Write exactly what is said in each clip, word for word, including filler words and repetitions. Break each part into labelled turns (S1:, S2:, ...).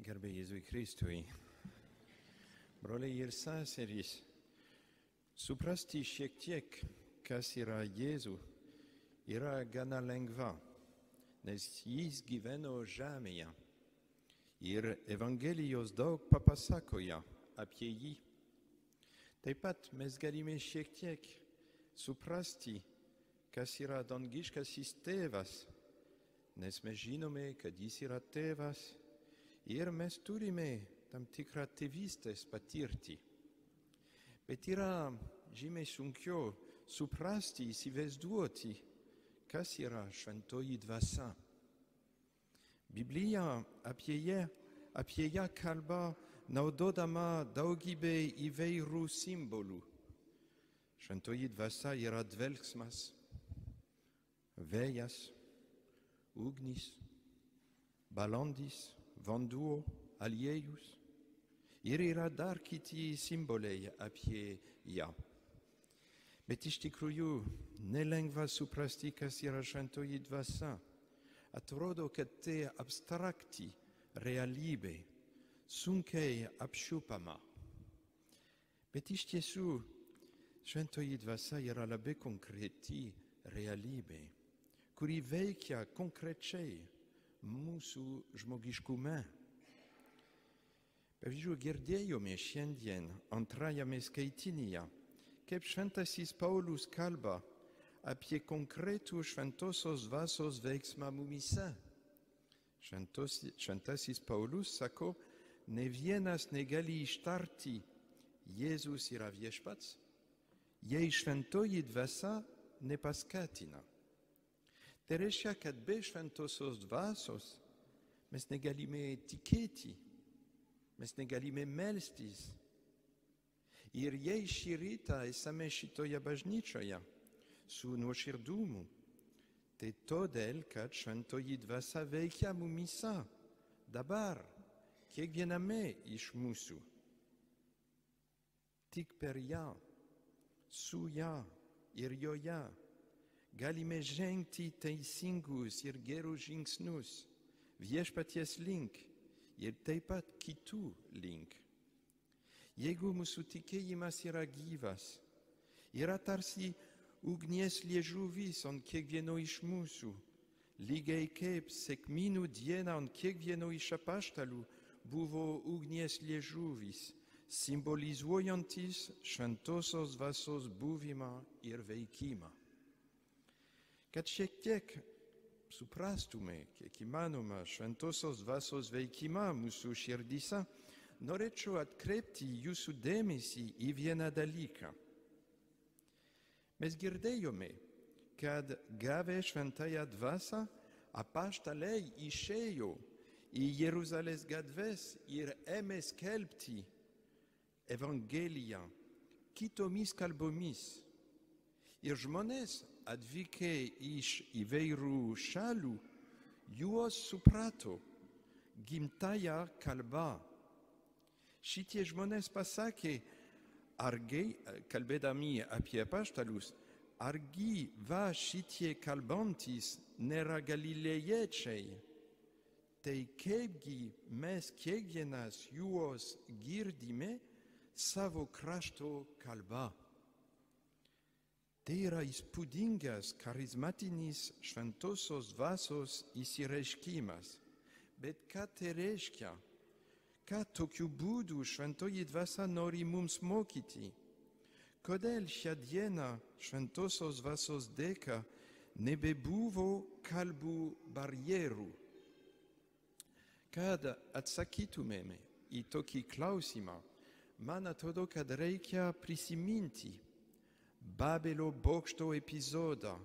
S1: Garbė Jėzui Kristui. Broliai ir seserys, suprasti šiek tiek, kas yra Jėzų, yra gana lengva, nes jis gyveno žemėje ir Evangelijos daug papasakoja apie jį. Taip pat mes galime šiek tiek suprasti, kas yra dangiškasis tėvas, nes mes žinome, kad jis yra tėvas ir mes turime tam tikrą tėvystės patirtį. Bet yra žymiai sunkiau suprasti, įsivaizduoti, kas yra šventoji dvasia. Biblija apie ją, apie ją kalba naudodama daugybę įvairių simbolių. Šventoji dvasia yra dvelksmas, vėjas, ugnis, balandis, vanduo, aliejus. Ir yra dar kiti simboliai apie ją. Bet iš tikrųjų nelengva suprasti, kas yra šventoji dvasia. Atrodo, kad tai abstrakti realybė, sunkiai apčiuopama. Bet iš tiesų šventoji dvasia yra labai konkreti realybė, kuri veikia konkrečiai mūsų žmogiškume. Pavyzdžiui, girdėjome šiandien antrajame skaitinyje, kaip šventasis Paulius kalba apie konkretų šventosios dvasios veiksmą mumyse. Šventos, šventasis Paulius sako, ne vienas negali ištarti Jėzus yra viešpats, jei šventoji dvasia nepaskatina. Tai reiškia, kad be šventosios dvasios mes negalime tikėti, mes negalime melstis. Ir jei šį rytą esame šitoje bažnyčioje su nuoširdumu, tai todėl, kad šventoji dvasia veikia mumyse, dabar, kiekviename iš mūsų. Tik per ją, su ją ir joje galime žengti teisingus ir gerus žingsnius viešpaties link ir taip pat kitų link. Jeigu mūsų tikėjimas yra gyvas, yra tarsi ugnies liežuvis ant kiekvieno iš mūsų, lygiai kaip sekminių dieną ant kiekvieno iš apaštalų buvo ugnies liežuvis, simbolizuojantis šventosios dvasios buvimą ir veikimą. Kad šiek tiek suprastume, kiek įmanoma, šventosios dvasios veikimą mūsų širdyse, norėčiau atkreipti jūsų dėmesį į vieną dalyką. Mes girdėjome, kad gavę šventąją dvasią, apaštalai išėjo į Jeruzalės gatves ir ėmė skelbti Evangeliją kitomis kalbomis. Ir žmonės atvykę iš įvairių šalių, juos suprato gimtąją kalbą. Šitie žmonės pasakė, argi, kalbėdami apie apaštalus, argi va šitie kalbantys nėra galilėjiečiai, tai kaipgi mes kiekvienas juos girdime savo krašto kalbą. Tai yra įspūdingas, charizmatinis šventosios dvasios įsireiškimas. Bet ką tai reiškia? Ką tokiu būdu šventoji dvasia nori mums mokyti? Kodėl šią dieną šventosios dvasios dėka nebebuvo kalbų barjerų? Kad atsakytumėme į tokį klausimą, man atrodo, kad reikia prisiminti Babelio bokšto epizodą,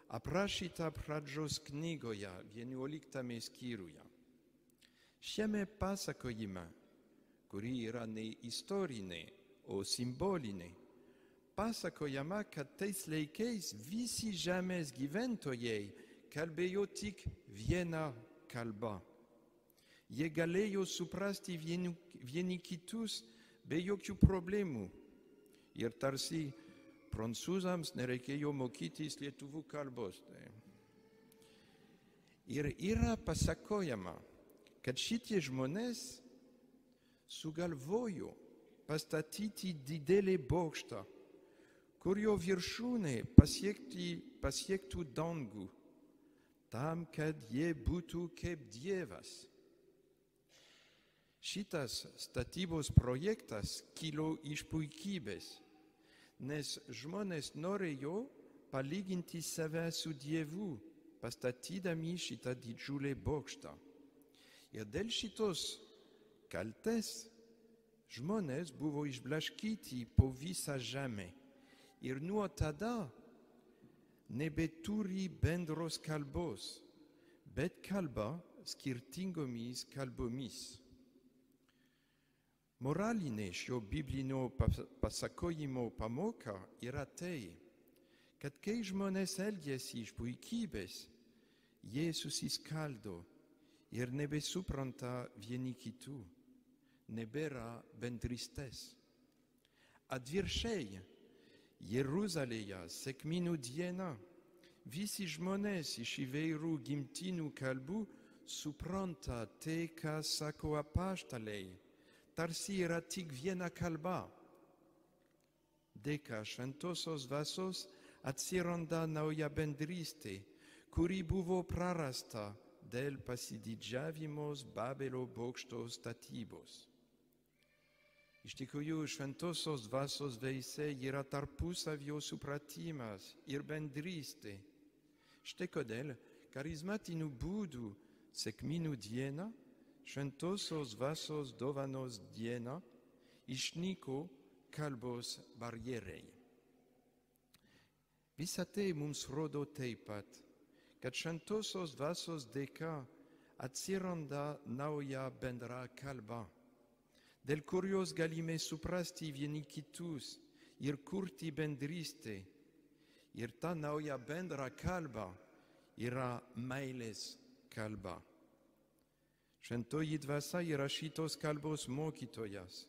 S1: aprašytą pradžios knygoje, vienuoliktame skyriuje. Šiame pasakojime, kuri yra ne istorinė, o simbolinė, pasakojama, kad tais laikais visi žemės gyventojai kalbėjo tik vieną kalbą. Jie galėjo suprasti vieni, vieni kitus be jokių problemų. Ir tarsi prancūzams nereikėjo mokytis lietuvų kalbos. Ir yra pasakojama, kad šitie žmonės sugalvojo pastatyti didelį bokštą, kurio viršūnė pasiekti, pasiektų dangų, tam, kad jie būtų kaip Dievas. Šitas statybos projektas kilo iš puikybės, nes žmonės norėjo palyginti save su Dievu, pastatydami šitą didžiulį bokštą. Ir dėl šitos kaltės žmonės buvo išblaškyti po visą žemę ir nuo tada nebeturi bendros kalbos, bet kalba skirtingomis kalbomis. Moralinė šio biblinio pasakojimo pamoka yra tai, kad kai žmonės elgiasi iš puikybės, jie susiskaldo ir nebesupranta vieni kitų, nebėra bendrystės. Atvirkščiai, Jeruzalėje sekminių dieną visi žmonės iš įvairių gimtinių kalbų supranta tai, ką sako apaštalai, tarsi yra tik viena kalba. Dėka šventosios dvasios atsiranda nauja bendrystė, kuri buvo prarasta dėl pasididžiavimos Babelio bokšto statybos. Iš tikrųjų, šventosios dvasios vaisiai yra tarpusavio supratimas ir bendrystė. Štai kodėl charizmatiniu būdu sekminių dieną, šventosios dvasios dovanos dieną, išnyko kalbos barjerai. Visa tai mums rodo taip pat, kad šventosios dvasios dėka atsiranda nauja bendra kalba, dėl kurios galime suprasti vieni kitus ir kurti bendrystę. Ir ta nauja bendra kalba yra meilės kalba. Šventoji dvasia yra šitos kalbos mokytojas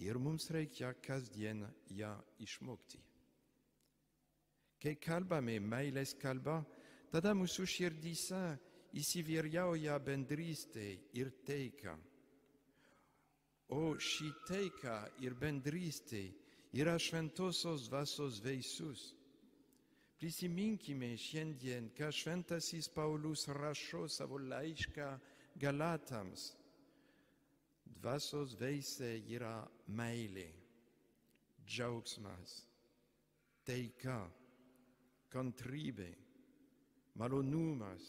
S1: ir mums reikia kasdien ją išmokti. Kai kalbame meilės kalba, tada mūsų širdyse įsivyrauja bendrystė ir taika. O ši taika ir bendrystė yra šventosios dvasios vaisius. Prisiminkime šiandien, ką šventasis Paulius rašo savo laišką Galatams. Dvasios vaisiai yra meilė, džiaugsmas, taika, kantrybė, malonumas,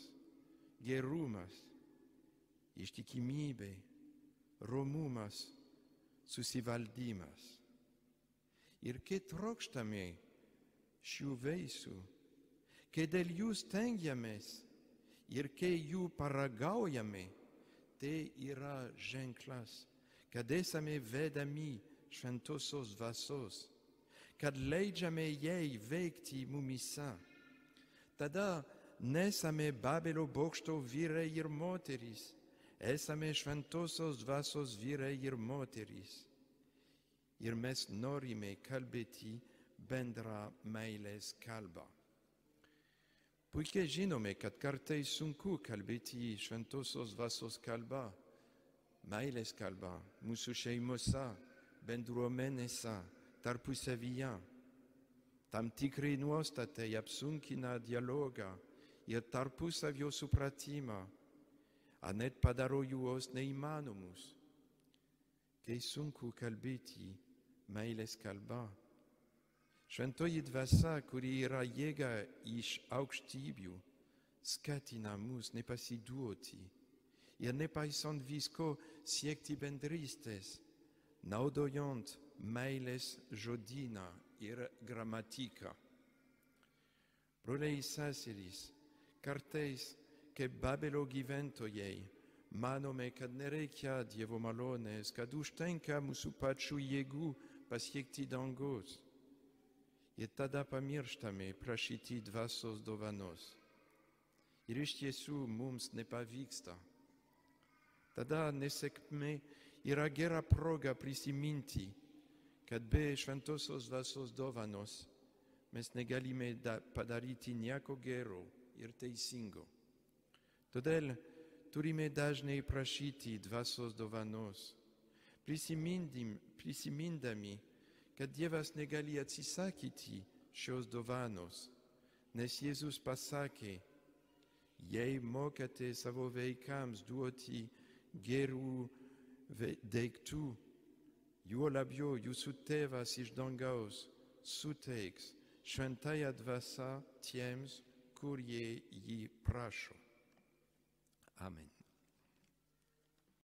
S1: gerumas, ištikimybė, romumas, susivaldymas. Ir kai trokštame šių vaisių, kai dėl jų stengiamės ir kai jų paragaujame, tai yra ženklas, kad esame vedami šventosios dvasios, kad leidžiame jai veikti mumyse. Tada nesame Babelio bokšto vyrai ir moterys, esame šventosios dvasios vyrai ir moterys. Ir mes norime kalbėti bendrą meilės kalbą. Puikiai žinome, kad kartais sunku kalbėti šventosios dvasios kalba, meilės kalba, mūsų šeimose, bendruomenėse, tarpusavyje. Tam tikrai nuostatai apsunkina dialogą ir tarpusavio supratimą, ar net padaro juos neįmanomus. Kai sunku kalbėti meilės kalba, šventoji dvasia, kuri yra jėga iš aukštybių, skatina mus nepasiduoti ir nepaisant visko siekti bendrystės, naudojant meilės žodyną ir gramatiką. Broliai ir seserys, kartais, kaip Babelio gyventojai, manome, kad nereikia Dievo malonės, kad užtenka mūsų pačių jėgų pasiekti dangus. Ir tada pamirštame prašyti dvasios dovanos. Ir iš tiesų mums nepavyksta. Tada nesėkmė yra gera proga prisiminti, kad be šventosios dvasios dovanos mes negalime padaryti nieko gero ir teisingo. Todėl turime dažnai prašyti dvasios dovanos, prisimindim, prisimindami, kad Dievas negali atsisakyti šios dovanos, nes Jėzus pasakė, jei mokate savo vaikams duoti gerų daiktų, juo labiau jūsų tėvas iš dangaus suteiks šventąją dvasią tiems, kurie jį prašo. Amen.